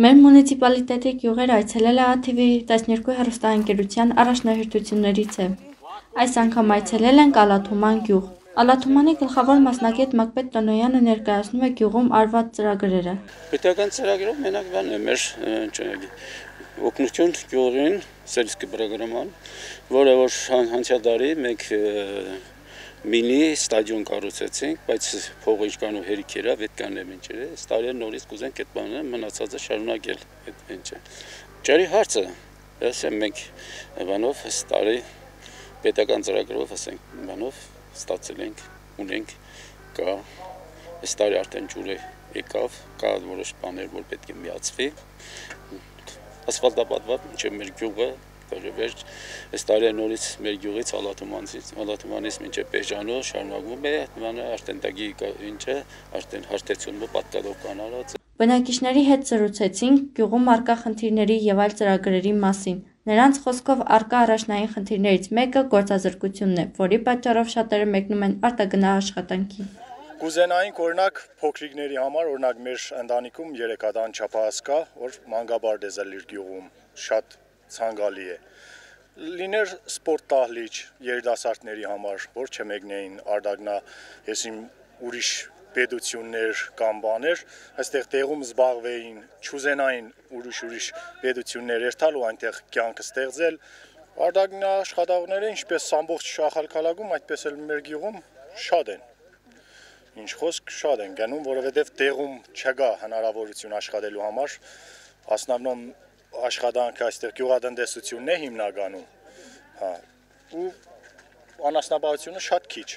Մեր մունիցիպալիտետի գյուղեր այցելելը ATV 12 հեռուստաընկերության առաջնահերթություններից է։ Այս անգամ այցելել ենք Ալաթուման գյուղ։ Ալաթումանի գլխավոր մասնագետ Մակպետ Տոնոյանը ներկայացնում է գյուղում արված ծրագրերը։ Պետական ծրագրով մենակ բան է մեր օգնություն գյուղին սերիսկի բրագրաման, որը որ անցյալ տարի մենք մինի ստադիոն կառուցեցինք, բայց փողը ինչքան ու հերիք էր, պետքան է մինչեր է, այս տարի նորից կուզենք այդ բանը մնացածը շարունակել այդ ինչը։ Ջարի հարցը, ասեմ մենք բանով այս տարի պետական ծրագրով ասենք բանով ստացել ենք, ունենք կա, այս տարի արդեն ջուրը եկավ, կա որոշ բաներ, որ պետք է միացվի, ասֆալտապատված մինչև մեր գյուղը վերջ, այս տարի նորից մեր գյուղից Ալաթումանից մինչև Պեժանով շարունակվում է, արդեն տագի ինչը, արդեն հարթեցումը պատկադով կանալած է։ Բնակիչների հետ զրուցեցինք գյուղում առկա խնդիրների և այլ ծրագրերի մասին։ Նրանց խոսքով առկա առաջնային խնդիրներից մեկը գործազրկությունն է, որի պատճառով շատերը մեկնում են արտագնա աշխատանքի։ Կուզենայինք օրինակ փոքրիկների համար, օրինակ մեր ընտանիքում 3 հատ անչափահաս կա, որ մանկաբարձ է զլիր գյուղում, շատ ցանկալի է։ Լիներ սպորտ տահլիճ երիտասարդների համար, որ չմեկնեին արտագնա, եսիմ ուրիշ պետություններ կամ բաներ, այստեղ տեղում զբաղվեին, չուզենային ուրիշ պետություններ երթալ ու այնտեղ կյանք ստեղծել։ Արտագնա աշխատողները ինչպես ամբողջ Շախալքալակում, այդպես էլ մեր գյուղում շատ են։ Ինչ խոսք շատ են գնում, որովհետև տեղում չկա հնարավորություն աշխատելու համար, ասնավնոմ աշխատանքը այստեղ գյուղատնտեսությունն է հիմնականում, ու անասնապահությունը շատ քիչ։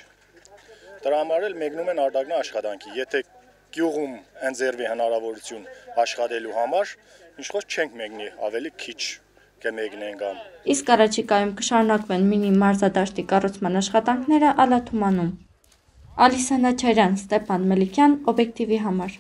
Դրա համար էլ մեկնում են արտագնա աշխատանքի, եթե գյուղում ընձեռվի հնարավորություն աշխատելու համար, ինչ խոսք չենք մեկնի, ավելի քիչ կմեկնենք ամ։ Իսկ առաջիկայում կշարունակվեն մինի մարզադաշտի կառուցման աշխատանքները Ալաթումանում։ Ալիսա Նաչարյան, Ստեփան Մելիքյան, օբյեկտիվի համար։